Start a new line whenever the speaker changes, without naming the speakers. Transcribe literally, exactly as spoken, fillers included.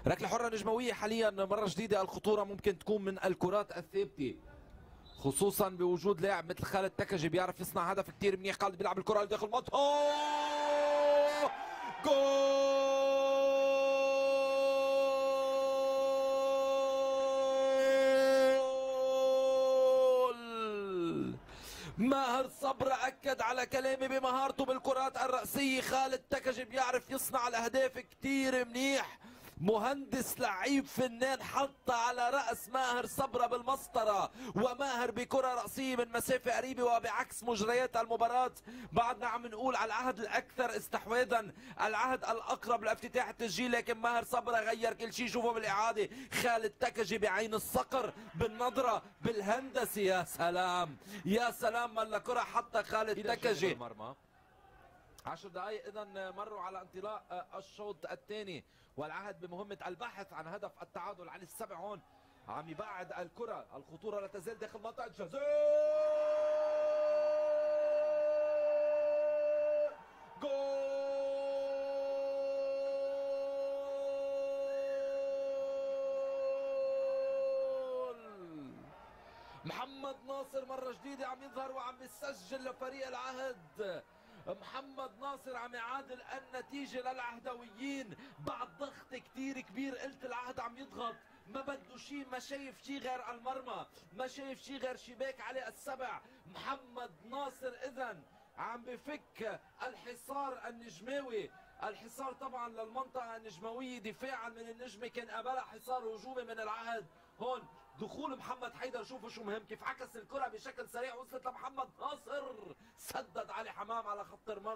ركلة حرة نجموية حاليا مرة جديدة. الخطورة ممكن تكون من الكرات الثابتة، خصوصا بوجود لاعب مثل خالد تكجي بيعرف يصنع هدف كتير منيح. خالد بيلعب الكرة لداخل المنطقة، جول! ماهر صبرا أكد على كلامي بمهارته بالكرات الرأسية. خالد تكجي بيعرف يصنع الأهداف كتير منيح، مهندس لعيب فنان حط على رأس ماهر صبرا بالمسطرة، وماهر بكرة رأسية من مسافة قريبة. وبعكس مجريات المباراة بعدنا عم نقول على العهد الأكثر استحواذا، العهد الأقرب لافتتاح التسجيل، لكن ماهر صبرا غير كل شيء. شوفوا بالإعادة خالد تكجي بعين الصقر، بالنظرة، بالهندسة. يا سلام يا سلام، ملا كرة حتى خالد تكجي. عشر دقائق اذا مروا على انطلاق الشوط الثاني، والعهد بمهمة البحث عن هدف التعادل. علي السبع هون عم يبعد الكرة، الخطورة لا تزال داخل منطقة الجزاء. جول! محمد ناصر مرة جديدة عم يظهر وعم يسجل لفريق العهد. محمد ناصر عم يعادل النتيجة للعهدويين بعد ضغط كتير كبير. قلت العهد عم يضغط، ما بده شيء، ما شايف شيء غير المرمى، ما شايف شيء غير شباك علي السبع. محمد ناصر اذا عم بفك الحصار النجماوي، الحصار طبعا للمنطقة النجموية دفاعا من النجمة، كان قبلها حصار هجومي من العهد. هون دخول محمد حيدر، شوفوا شو مهم، كيف عكس الكرة بشكل سريع وصلت لمحمد ناصر، سدد علي حمام على خط المرمى.